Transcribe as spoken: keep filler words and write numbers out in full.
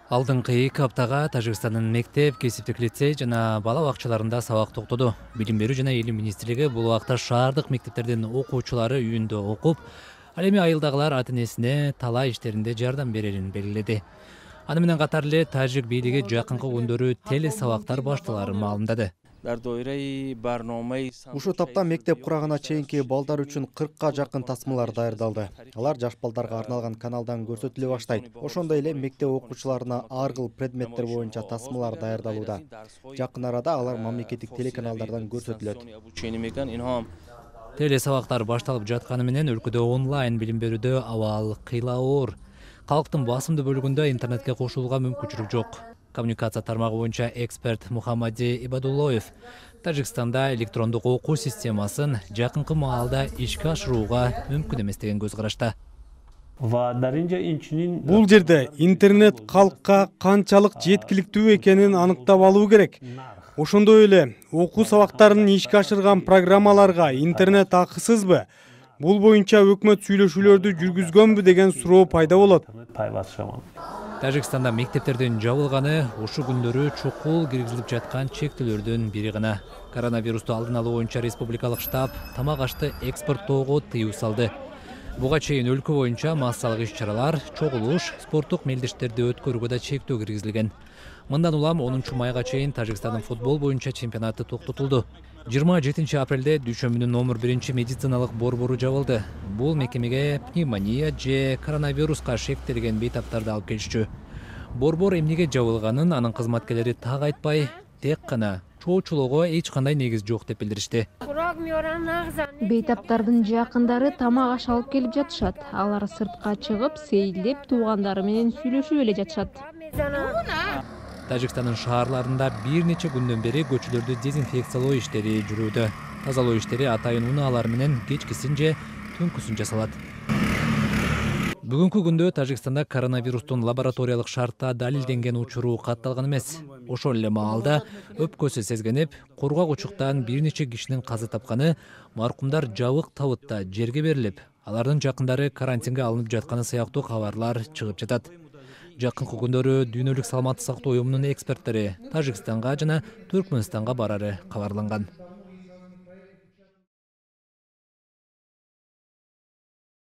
Алдыңкы эки аптага Тажикстандын мектеп, кесиптик лицей жана бала бакчаларында сабак токтоду. Билим берүү жана илим министрлиги бул убакта шаардык мектептердин окуучулары үйүндө окуп, ал эми айылдагылар ата-энесине талаа иштеринде жардам берерин белгиледи. Аны менен катар эле тажик бийлиги жакынкы күндөрү теле сабактар башталарын маалымдады. Ушул тапта мектеп курагына чейинки балдар үчүн кыркка жакын тасмалар даярдалды. Алар жаш балдарга арналган каналдан көрсөтүлө баштайт. Ошондой эле мектеп окуучуларына ар кыл предметтер боюнча тасмалар даярдалууда. Жакын арада алар мамлекеттик телеканалдардан көрсөтүлөт. Теле сабактар башталып жатканы менен өлкөдө онлайн билим берүүдө абал кыйла-оор. Калктын басымдуу бөлүгүндө интернетке кошулууга мүмкүнчүлүк жок. Коммуникация тармагы боюнча эксперт Мухаммади Ибадуллоев Тажикстанда электрондук окуу системасын жакынкы маалда ишке ашырууга мүмкүн эмес деген көз карашта. Бул жерде интернет калкка канчалык жеткиликтүү экенин аныктап алуу керек. Ошондой эле окуу сабактарын ишке ашырган программаларга интернет акысызбы? Бул боюнча өкмөт сүйлөшүүлөрдү жүргүзгөнбү деген суроо пайда болот. Тажикстанда мектептердин жабылганы ушул күндөрү чукул киргизилип жаткан чектөөлөрдүн бири гана. Коронавирусту алдын алуу боюнча республикалык штаб тамак ашты экспорттоого тыюу салды. Буга чейин өлкө боюнча массалык иш-чаралар, чогулуш, спорттук мелдештерди өткөрүүгө да чектөө киргизилген. Мындан улам онунчу майга чейин Тажикстандын футбол боюнча чемпионаты токтотулду. жыйырма жетинчи апрелде дүйшөмбүнүн номер биринчи медициналык борбору жабылды. Бул мекемеге пневмония же коронавируска шектелген бейтаптарды алып келишчү. Борбор эмнеге жабылганын анын кызматкерлери так айтпай, тек гана чоочулоого эч кандай негиз жок деп билдиришти. Бейтаптардын жакындары тамак аш алып келип жатышат. Алар сыртка чыгып, сейилдеп, туугандары менен сүйлөшүп эле жатышат. Тажикстандын шаарларында бир нече күндөн бери көчөлөрдү дезинфекциялоо иштери жүрүүдө. Тазалоо иштери атайын унаалар менен кечкисин же түнкүсүн жасалат. Бүгүнкү күндө Тажикстанда коронавирустун лабораториялык шартта далилденген учуру катталган эмес. Ошол эле маалда өпкөсү сезгенип, кургак учуктан бир нече кишинин каза тапканы, маркумдар жабык табытта жерге берилип, алардын жакындары карантинге алынып жатканы сыяктуу кабарлар чыгып жатат. Жакынкы күндөрү Дүйнөлүк саламаттык сактоо уюмунун эксперттери Тажикстанга жана Түркмөнстанга барары кабарланган.